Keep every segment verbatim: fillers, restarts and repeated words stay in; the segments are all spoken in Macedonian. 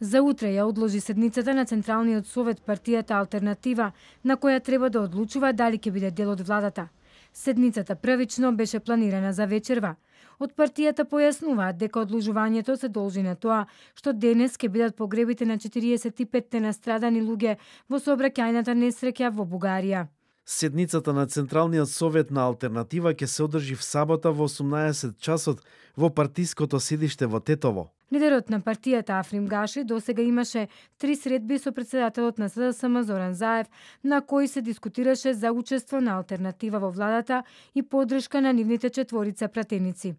За утре ја одложи седницата на Централниот совет партијата Алтернатива, на која треба да одлучува дали ќе биде дел од владата. Седницата првично беше планирана за вечерва. Од партијата појаснуваат дека одложувањето се должи на тоа што денес ќе бидат погребите на четириесет и петте настрадани луѓе во сообраќајната несреќа во Бугарија. Седницата на Централниот совет на Алтернатива ќе се одржи в сабота во осумнаесет часот во партиското седиште во Тетово. Лидерот на партијата Африм Гаши досега имаше три средби со председателот на СДСМ Зоран Заев, на кои се дискутираше за учество на Алтернатива во владата и поддршка на нивните четворица пратеници.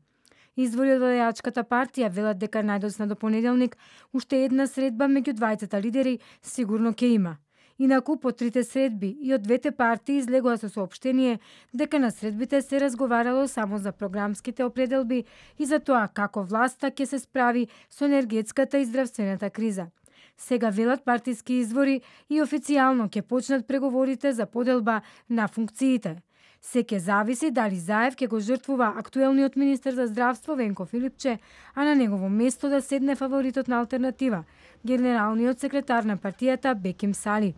Извори од владеачката партија велат дека најдосна до понеделник уште една средба меѓу двајцата лидери сигурно ќе има. Инаку, по трите средби и од двете партии излегува со соопштение дека на средбите се разговарало само за програмските определби и за тоа како власта ќе се справи со енергетската и здравствената криза. Сега велат партиски извори и официјално ќе почнат преговорите за поделба на функциите. Се ќе зависи дали Заев ќе го жртвува актуелниот министер за здравство Венко Филипче, а на негово место да седне фаворитот на Алтернатива, генералниот секретар на партијата Беким Сали.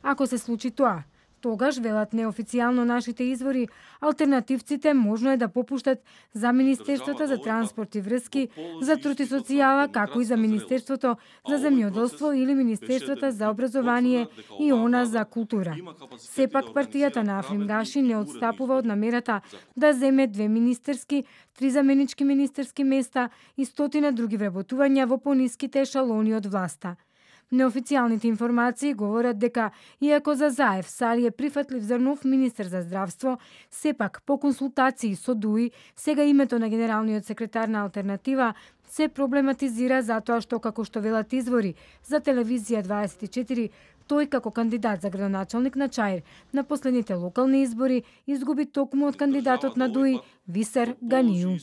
Ако се случи тоа, тогаш, велат неофицијално нашите извори, алтернативците можно е да попуштат за Министерството за транспорт и врски, за труд и социјала, како и за Министерството за земјоделство или Министерството за образование и она за култура. Сепак партијата на Африм Гаши не отстапува од намерата да земе две министерски, три заменички министерски места и стотина други вработувања во пониските ешалони од власта. Неофицијалните информации говорат дека, иако за Заев Сали е прифатлив за нов министер за здравство, сепак по консултации со ДУИ, сега името на генералниот секретар на Алтернатива се проблематизира затоа што, како што велат извори за телевизија дваесет и четири, тој како кандидат за градоначалник на Чаир на последните локални избори изгуби токму од кандидатот на ДУИ Висер Ганију.